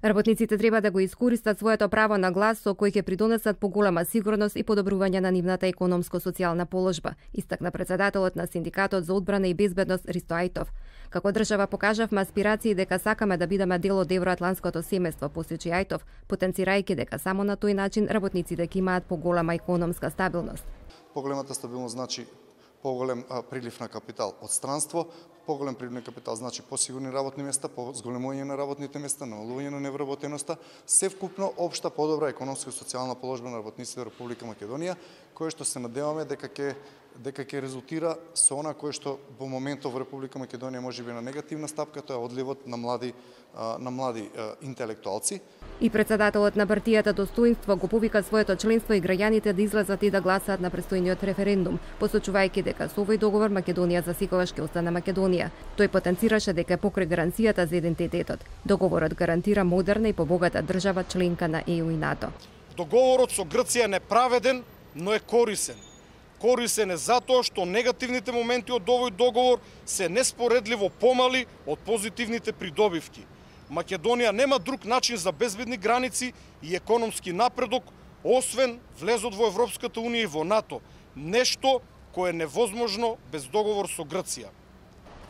Работниците треба да го искористат своето право на глас со кој ќе придонесат поголема сигурност и подобрување на нивната економско-социјална положба, истакна председателот на Синдикатот за одбрана и безбедност Ристо Ајтов. Како држава покажавме аспирации дека сакаме да бидеме дел од евроатлантското семејство, посочи Ајтов, потенцирајќи дека само на тој начин работниците ќе имаат поголема економска стабилност. Поголемата стабилност значи поголем прилив на капитал од странство, поголем прилив на капитал значи посигурни работни места, зголемување на работните места, намалување на невработеноста, севкупно општа подобра економска и социјална положба на работниците во Република Македонија, кое што се надеваме дека ќе резултира со она кое што во моментов во Република Македонија можеби на негативна стапка, тоа е одливот на млади интелектуалци. И председателот на партијата Достоинство го повика своето членство и граѓаните да излезат и да гласаат на престојниот референдум, посочувајќи дека со овој договор Македонија засекогаш ќе остане Македонија. Тој потенцираше дека покрај гаранцијата за идентитетот, договорот гарантира модерна и побогата држава членка на ЕУ и НАТО. Договорот со Грција е неправеден, но е корисен. Корисен е затоа што негативните моменти од овој договор се неспоредливо помали од позитивните придобивки. Македонија нема друг начин за безбедни граници и економски напредок, освен влезот во Европската унија и во НАТО. Нешто кое е невозможно без договор со Грција.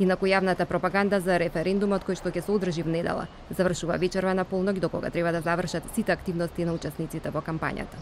Инаку јавната пропаганда за референдумот кој што ќе се одржи в недела завршува вечерва на полнок, до кога треба да завршат сите активности на учесниците во кампањата.